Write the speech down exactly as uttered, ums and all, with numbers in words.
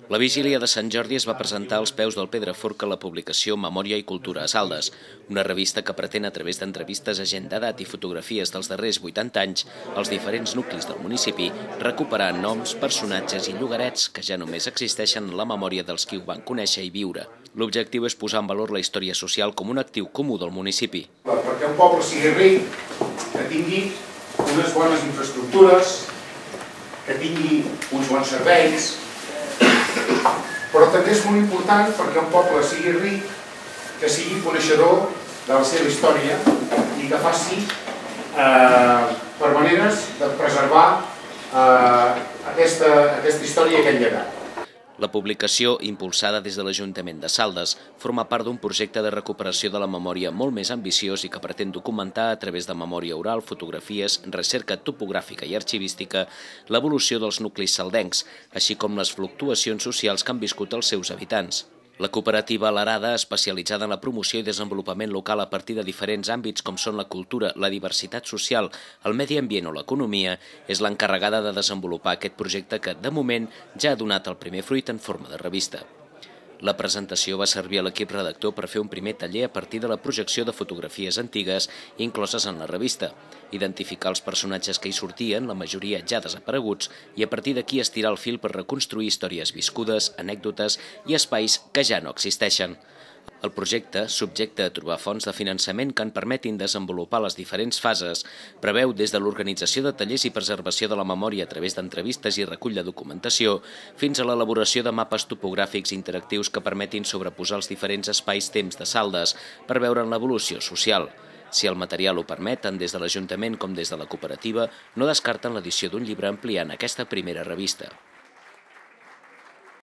La vigília de Sant Jordi es va presentar als peus del Pedraforca la publicació Memòria i Cultura a Saldes, una revista que pretén, a través d'entrevistes a gent d'edat i fotografies dels darrers vuitanta anys, als diferents nuclis del municipi, recuperar noms, personatges i llogarets que ja només existeixen en la memòria dels qui ho van conèixer i viure. L'objectiu és posar en valor la història social com un actiu comú del municipi. Perquè un poble sigui ric, que tingui unes bones infraestructures, que tingui uns bons serveis, però també és molt important perquè un poble sigui ric, que sigui coneixedor de la seva història i que faci eh, per maneres de preservar eh, aquesta, aquesta història i aquest llegat. La publicació, impulsada des de l'Ajuntament de Saldes, forma part d'un projecte de recuperació de la memòria molt més ambiciós i que pretén documentar a través de memòria oral, fotografies, recerca topogràfica i arxivística l'evolució dels nuclis saldencs, així com les fluctuacions socials que han viscut els seus habitants. La cooperativa L'Arada, especialitzada en la promoció i desenvolupament local a partir de diferents àmbits com són la cultura, la diversitat social, el medi ambient o l'economia, és l'encarregada de desenvolupar aquest projecte que, de moment, ja ha donat el primer fruit en forma de revista. La presentació va servir a l'equip redactor per fer un primer taller a partir de la projecció de fotografies antigues incloses en la revista, identificar els personatges que hi sortien, la majoria ja desapareguts, i a partir d'aquí estirar el fil per reconstruir històries viscudes, anècdotes i espais que ja no existeixen. El projecte, subjecte a trobar fonts de finançament que en permetin desenvolupar les diferents fases, preveu des de l'organització de tallers i preservació de la memòria a través d'entrevistes i recull de documentació, fins a l'elaboració de mapes topogràfics interactius que permetin sobreposar els diferents espais-temps de Saldes per veure'n l'evolució social. Si el material ho permet, tant des de l'Ajuntament com des de la cooperativa, no descarten l'edició d'un llibre ampliant aquesta primera revista.